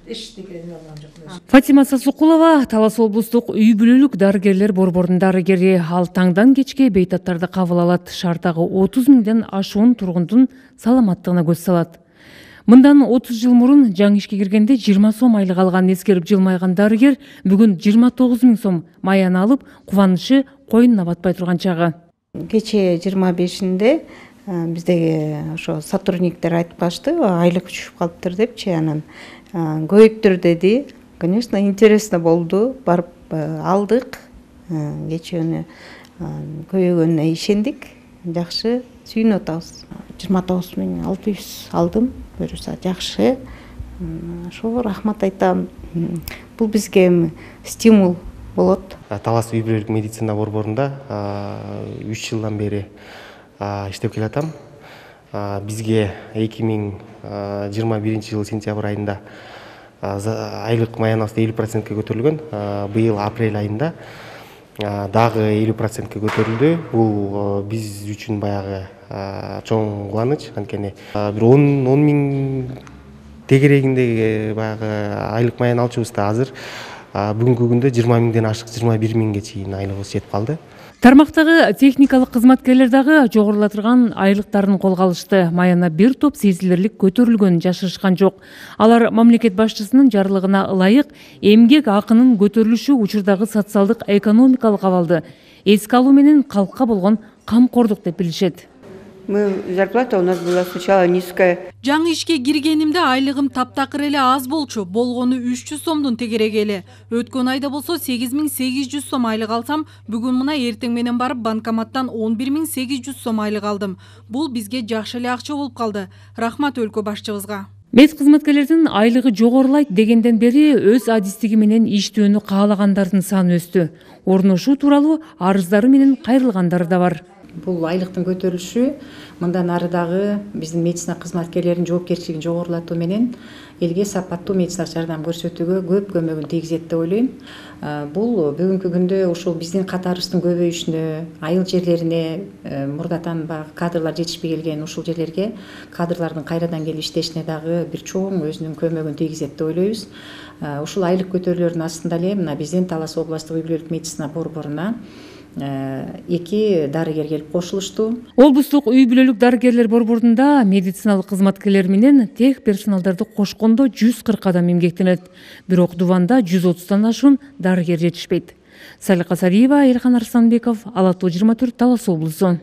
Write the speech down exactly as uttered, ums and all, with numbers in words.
эчтекени алган жокмун. Фатима Сасукулова Талас облустук үй бүлөлүк дарыгерлер борборунун дарыгери. Ал таңдан кечке бейтаптарды кабыл алат. Шаардагы отуз миңден ашуун тургундун саламаттыгына көз салат. Мындан отуз жыл мурун жаңы ишке киргенде жыйырма сом айлык алганын эскерип жылмайган дарыгер бүгүн жыйырма тогуз миң сом маяны алып, кубанышы койнуна батпай турган чагы. Кечээ жыйырма бешинде биздеги ошо сотрудниктер айтып калышты, айлык түшүп калыптыр депчи, анан көйүптүр деди. Конечно, интересно болду. Барып алдык. Кечүүнү көйгөнүнө ишендик. Жакшы сүйүнүп атабыз. жыйырма тогуз миң алты жүз алдым. Буюрса жакшы. Ошо рахмат айтам. Бул бизге стимул болот. Талас үй бүлөлүк медицина борборунда үч жылдан бери иштеп келатам. Бизге эки миң жыйырма биринчи жылы сентябрь айында айлык маянабыз элүү процентке көтөрүлгөн. Быйыл апрель айында дагы элүү процентке көтөрүлдү. Бул биз үчүн баягы чоң кубаныч. Анткени бир он миң тегерегиндеги баягы айлык маян алчубыз да азыр бүгүнкү күндө жыйырма миңден ашык жыйырма бир миңге чейин айлыгыбыз жетип калды. Тармактагы техникалык кызматкерлер дагы жогорулатылган айлыктарын колго алышты. Маяна бир топ сезилирлик көтөрүлгөнүн жашырышкан жок. Алар мамлекет башчысынын жарлыгына ылайык эмгек акынын көтөрүлүшү учурдагы социалдык экономикалык абалды эске алуу менен калкка болгон камкордук деп билишет. Мы зарплата у нас была сначала низкая. Жаңы ишке киргенимде айлыгым таптакыр эле аз болчу. Болгону үч жүз сомдун тегереги эле. Өткөн айда болсо сегиз миң сегиз жүз сом айлык алсам, бүгүн мына эртең менен барып банкоматтан он бир миң сегиз жүз сом айлык алдым. Бул бизге жакшы эле акча болуп калды. Рахмат өлкө башчыбызга. Мед кызматкерлердин айлыгы жогорулайт дегенден бери өз адистиги менен иштөөнү каалагандардын саны өстү. Орношуу тууралуу арыздары менен кайрылгандары да бар. Бул айлыктын көтөрүлүшү мындан ары дагы биздин медицина кызматкерлеринин жоопкерчилигин жогорулатуу менен элге сапаттуу медициналык жардам көрсөтүүгө көп көмөгүн тийгизет деп ойлойм. Бул бүгүнкү күндө ушул биздин катарыбыздын көбөйүшүнө, айыл жерлерине мурдатан баягы кадрлар жетишпей келген ушул жерлерге кадрлардын кайрадан келип иштешине дагы бир чоң өзүнүн көмөгүн тийгизет деп ойлойбуз. Ушул айлык көтөрүүлөрдүн астында эле мына биздин Талас областык үй бүлөлүк медицина борборуна эки дарыгер келип кошулушту. Облустук үй бүлөлүк дарыгерлер борборунда медициналык кызматкерлер менен тех персоналдарды кошкондо жүз кырк адам эмгектенет. Бирок Дуванда жүз отуздан ашуун дарыгер жетишпейт. Салика Сариева, Элхан Арсланбеков, Ала тоо жыйырма төрт, Талас облусу.